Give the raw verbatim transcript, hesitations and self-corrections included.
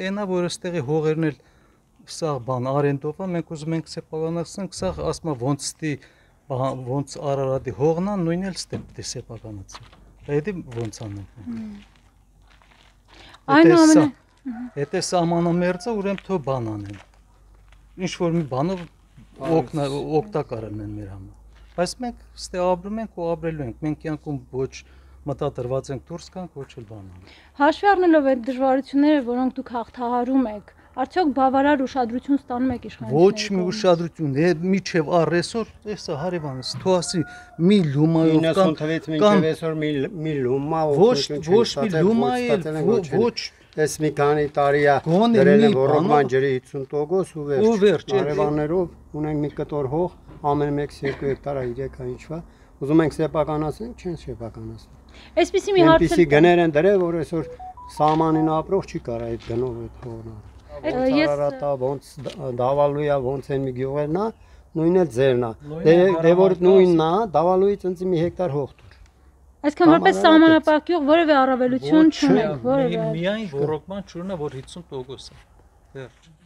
այնա որ այստեղի հողերն էլ սա բան արենդով է, մենք ուզում ենք սեփականացնենք, սա ասма ոնց ստի ոնց Արարատի հողն է, նույնն էլ ստե սեփականացնել։ Դա ոնց անենք։ Այնուամենայնիվ, եթե սահմանամերձը ուրեմն թո բան անեն։ Ինչ որ մի բանով օգտակար են մեր համար։ Բայց մենք ստե ապրում ենք ու ապրելու ենք։ Մենք կյանքում ոչ մտադրված ենք դուրս գանք, ոչ էլ բան անենք։ Հաշվի առնելով այդ դժվարությունները, որոնք դուք հաղթահարում եք, արդյոք բավարար ուշադրություն ստանում եք իշխանությունների։ Ոչ մի ուշադրություն, միջև առեսօր, էսա հարևանս, թո ասի մի լումայով կամ մինչև այսօր մի լումա ոչ ոչ մի լումայ, ոչ Ես մի քանի տարի է դրել եմ ռոման ջրի հիսուն տոկոս ու վերջ։ Արևաններով ունենք մի կտոր հող, ամեն մեկս երկու հեկտար է, երեք է ինչվա։ Ուզում ենք սեփականացնել, չեն սեփականացնում։ Այսպեսի մի հարց Այնպեսի գներ են դրել, որ այսօր սահմանին ապրող չի կարա այդ գնով այդ հողն։ Ոնց Արարատա, ոնց Դավալույա, ոնց են մի գյուղերն է, նույնն էլ ձերն է։ Դե որ նույնն է, Դավալույից ինձ մի հեկտար հող տուր։ Այսքան որպես սահմանապահ գյուղ որևէ առավելություն չունենք, որևէ։ Միայն ռոռոկման ճուրնա, որ հիսուն տոկոս է։ Վերջ։